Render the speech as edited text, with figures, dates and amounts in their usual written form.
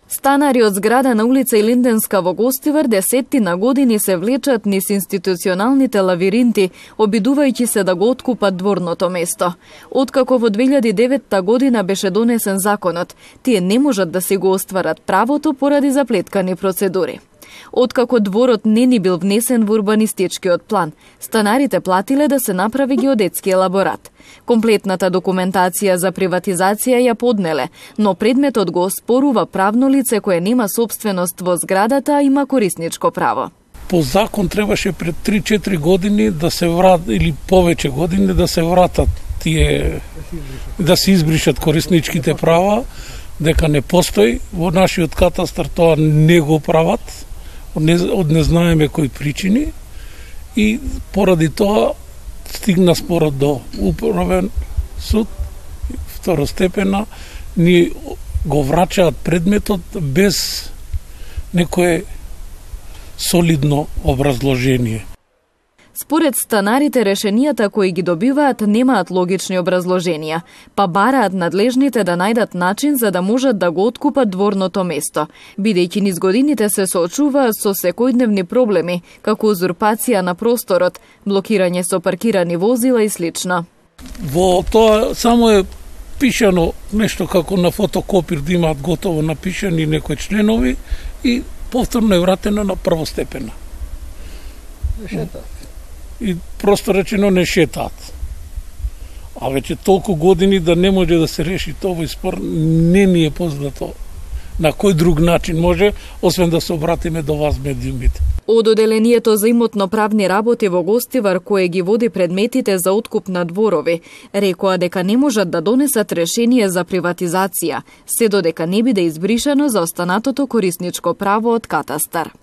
Станари од зграда на улица Илинденска во Гостивар десеттина години се влечат низ институционалните лавиринти, обидувајќи се да го откупат дворното место. Откако во 2009 година беше донесен законот, тие не можат да си го остварат правото поради заплеткани процедури. Откако дворот не ни бил внесен во урбанистичкиот план, станарите платиле да се направи геодетски елаборат. Комплетната документација за приватизација ја поднеле, но предметот го оспорува правно лице кое нема собственост во зградата, а има корисничко право. По закон требаше пред 3-4 години да се вратат, или повеќе години да се вратат тие, да се избришат корисничките права, дека не постои. Во нашиот катастар тоа не го прават, од не знаеме кои причини, и поради тоа стигна спорот до управен суд, второстепена, ни го врачаат предметот без некое солидно образложение. Според станарите, решенијата кои ги добиваат немаат логични образложенија, па бараат надлежните да најдат начин за да можат да го откупат дворното место, бидејќи низ годините се соочуваат со секојдневни проблеми, како узурпација на просторот, блокирање со паркирани возила и слично. Во тоа само е пишано нешто како на фотокопир, да имаат готово напишани некои членови и повторно е вратено на првостепена. И просто речено не шетаат. А веќе толку години да не може да се реши овој спор, не ни е познато на кој друг начин може, освен да се обратиме до вас медиумите. Од Оделението за имотно-правни работи во Гостивар, кое ги води предметите за откуп на дворови, рекоа дека не можат да донесат решение за приватизација, се додека не биде избришано за останатото корисничко право од катастар.